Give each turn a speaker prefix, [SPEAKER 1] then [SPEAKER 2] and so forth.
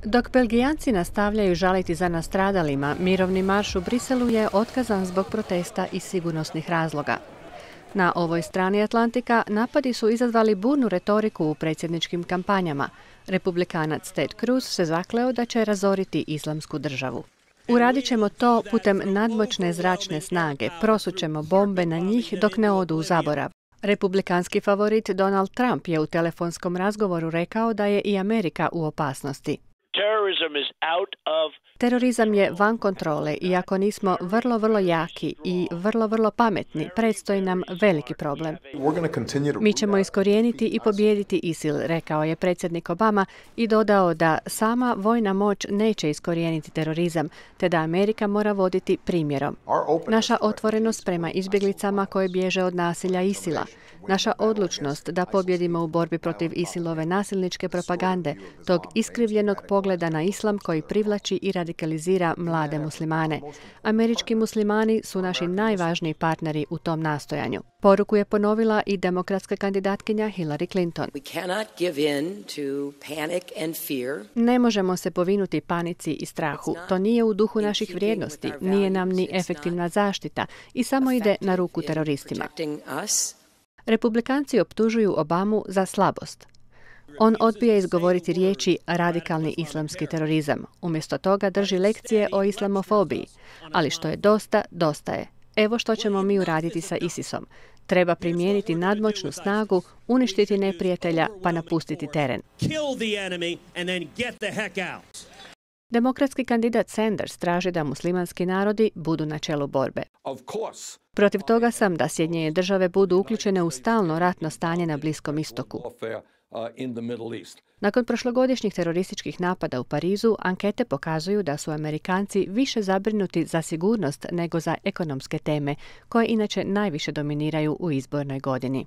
[SPEAKER 1] Dok Belgijanci nastavljaju žaliti za nastradalima, mirovni marš u Briselu je otkazan zbog protesta i sigurnosnih razloga. Na ovoj strani Atlantika napadi su izazvali burnu retoriku u predsjedničkim kampanjama. Republikanac Ted Cruz se zakleo da će razoriti Islamsku državu. Uradit ćemo to putem nadmoćne zračne snage, prosućemo bombe na njih dok ne odu u zaborav. Republikanski favorit Donald Trump je u telefonskom razgovoru rekao da je i Amerika u opasnosti. Terorizam je van kontrole i ako nismo vrlo jaki i vrlo pametni, predstoji nam veliki problem. Mi ćemo iskorijeniti i pobijediti ISIL, rekao je predsjednik Obama i dodao da sama vojna moć neće iskorijeniti terorizam, te da Amerika mora voditi primjerom. Naša otvorenost prema izbjeglicama koje bježe od nasilja ISIL-a, naša odlučnost da pobjedimo u borbi protiv ISIL-ove nasilničke propagande, tog iskrivljenog pogleda na islam koji privlači i radikalizira mlade muslimane. Američki muslimani su naši najvažniji partneri u tom nastojanju. Poruku je ponovila i demokratska kandidatkinja Hillary Clinton. Ne možemo se povinuti panici i strahu. To nije u duhu naših vrijednosti, nije nam ni efektivna zaštita i samo ide na ruku teroristima. Republikanci optužuju Obamu za slabost. On odbija izgovoriti riječi radikalni islamski terorizam. Umjesto toga drži lekcije o islamofobiji. Ali što je dosta, dosta je. Evo što ćemo mi uraditi sa ISIS-om. Treba primijeniti nadmoćnu snagu, uništiti neprijatelja pa napustiti teren. Demokratski kandidat Sanders traži da muslimanski narodi budu na čelu borbe. Protiv toga sam da Sjedinjene države budu uključene u stalno ratno stanje na Bliskom istoku. Nakon prošlogodišnjih terorističkih napada u Parizu, ankete pokazuju da su Amerikanci više zabrinuti za sigurnost nego za ekonomske teme, koje inače najviše dominiraju u izbornoj godini.